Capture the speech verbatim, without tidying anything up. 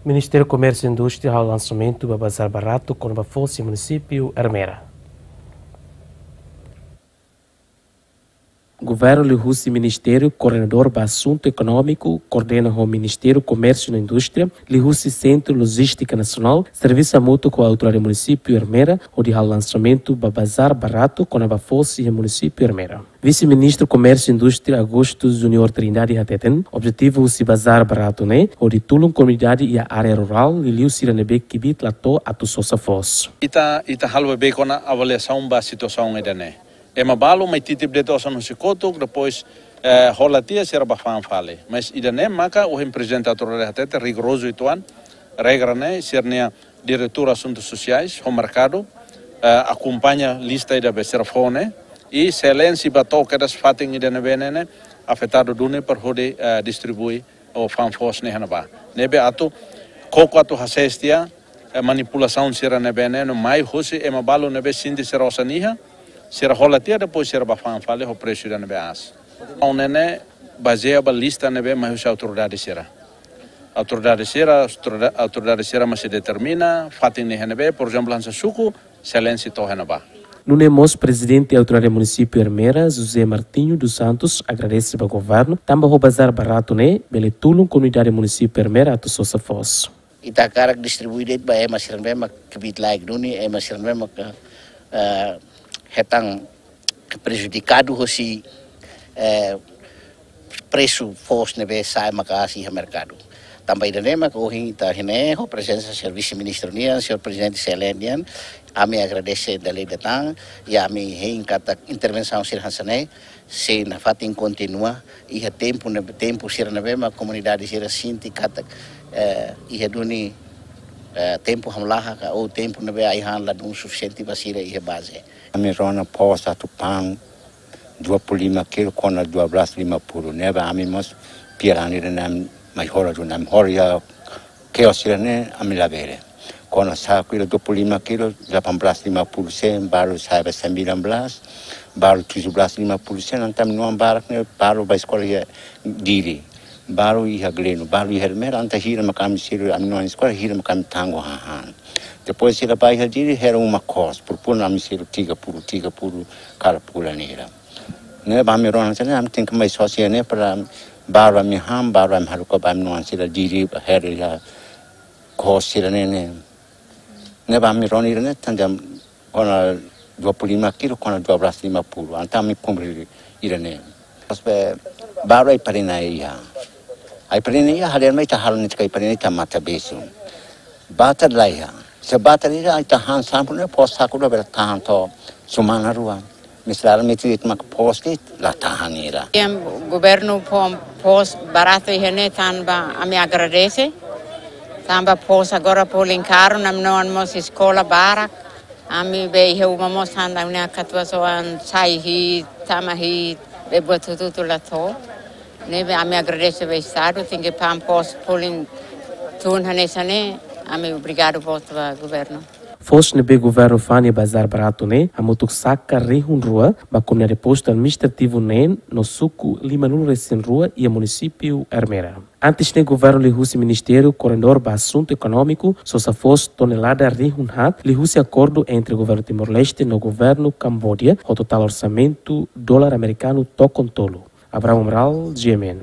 Ministériu Komérsiu Indústria halo lansamentu ba bazár baratu kona-ba foos iha munisípiu Ermera. Governu liuhusi Ministériu Koordenadór ba Asuntu Ekonómiku, koordena ho Ministériu Komérsiu no Indústria, liuhusi Sentru Lojístika Nasionál, servisu hamutuk ho autoridade munisípiu Ermera, hodi halo lansamentu ba bazár baratu kona-ba foos iha munisípiu Ermera. Vise-Ministru Komérsiu Indústria Augusto Junior Trindade hateten, objetivu husi bazár baratu ne'e, hodi tulun komunidade iha área rurál, liuliu sira ne'ebé kbiit la to'o atu sosa foos. Ita, ita halo beibeik ona avaliasaun ba situasaun ida-ne'e. Ema balu mai titip de'it osan husi kotuk, depois, eh, hola tiha sira bá fa'an fali. Mas ida-ne'e maka ohin Prezidente Autoridade hateten rigorozu uitoan, regra ne'e, sira-nia Diretór Asuntus Sosiais, ho merkadu, eh, akompaña lista ida be sira fó ne'e, i se la'en sei bá to'o kedas fatin ida ne'ebé ne'e, ne'e afetadu duni para hodi, eh, distribui ou fa'an foos ne'e iha ne'ebá. Ne'ebé atu, koko atu hasees tiha, eh, manipulasaun sira ne'ebé ne'e, no mai husi ema balu ne'ebé sente sira osan iha, sira hola tiha depois sira bá fa'an fali ho presu ida ne'ebé aas. Ha'u ne'e ne'e bazeia ba lista ne'ebé mai husi autoridade sira. Autoridade sira, autoridade, autoridade sira mak sei determina, fatin ne'e iha ne'ebé, por ezemplu, hanesan suku, se la'en sei to'o iha ne'ebá. Nune'e mós Prezidente Autoridade Munisípiu Ermera, José Martinho dos Santos, agradese ba governu, tanba ho bazár baratu ne'e, bele tulun komunidade munisípiu Ermera atu sosa foos. Ita hakarak distribui de'it ba ema sira ne'ebé mak kbiit-laek duni, ema sira ne'ebé mak, eh, hetan prejudikadu husi, eh, presu foos ne'ebé sa'e maka'as iha merkadu. Tanba ida-ne'e mak ohin ita iha ne'e ho prezensa Señór Vise-Ministru nian, Señór Prezidente se la'en nian, ami agradese dala ida tan, i ami hein katak intervensaun sira hanesan ne'e, sei nafatin kontinua, iha tempu ne'e, tempu sira ne'ebé mak komunidade sira sente katak, eh, iha duni, eh, tempu hamlaha ka, ou tempu ne'ebé ai-han ladún sufisiente ba sira iha baze. Ami rona foos atu fa'an dua puluh lima kilo kona dua belas lima puluh. Ne'ebé ami mós piaran ida ne'e mai hola duni, ami hola iha kios sira ne'e ami labele. Kona saku ida dua puluh lima kilo, delapan belas lima puluh sen, balu sa'e ba sembilan belas, balu tujuh belas lima puluh sen, entaun ami-nia oan barak ne'e balu bá eskola iha Dili. Balu iha Gleno, balu iha Ermera, entaun hira maka ami selu ami-nia oan eskola, hira maka ami tanggung hahán. Depois sira bá iha Dili, hela uma kos, purpur ami selu tiga puluh, tiga puluh kada fulan ne'e. Ne'ebé ami rona hanesan ne'e, ami tenke mai sosa ne'e para balu ami han, balu ami haruka ba ami-nia oan sira Dili, hela iha kos sira ne'e ne'e. Ne'ebé ami rona ida-ne'e, tanba kona dua puluh lima kilo, kona dua belas lima puluh. Entaun ami kumpre ida-ne'e. Depois be balu ai-farina iha. Ai-farina iha, halean mai ita halo netik ai-farina ita mata besu. Batar la iha. Se batar iha, ita han sampul ne'e, foos saku ida bele tahan to'o semana rua. Mas la miti it mak foos de'it la tahan ida. Em, governu fó foos baratu iha ne'e tanba ami agradese. Tanba foos agora folin karu, ami-nia oan mós eskola barak. Ami be iha uma mós tanba ami-nia katuas-oan sai hi'it, tama hi'it, be buat hotu-hotu la to'o. Ne'ebé ami agradese ba Estadu, tenke fa'an foos folin tun hanesan ne'e, ami obrigadu boot ba governu. Foos ne'ebé governu fa'an iha bazár baratu ne'e, hamutuk saka rihun rua, ba komunidade postu administrativu neen, no suku lima-nulu resin rua, iha munisípiu Ermera. Antes ne'e governu liuhusi Ministériu Koordenadór ba Asuntu Ekonómiku, sosa foos tonelada rihun haat, liuhusi akordu entre governu Timor-Leste no governu Kambodia, ho totál orsamentu dolar amerikanu tokon tolu. Abraham Amaral, G M N.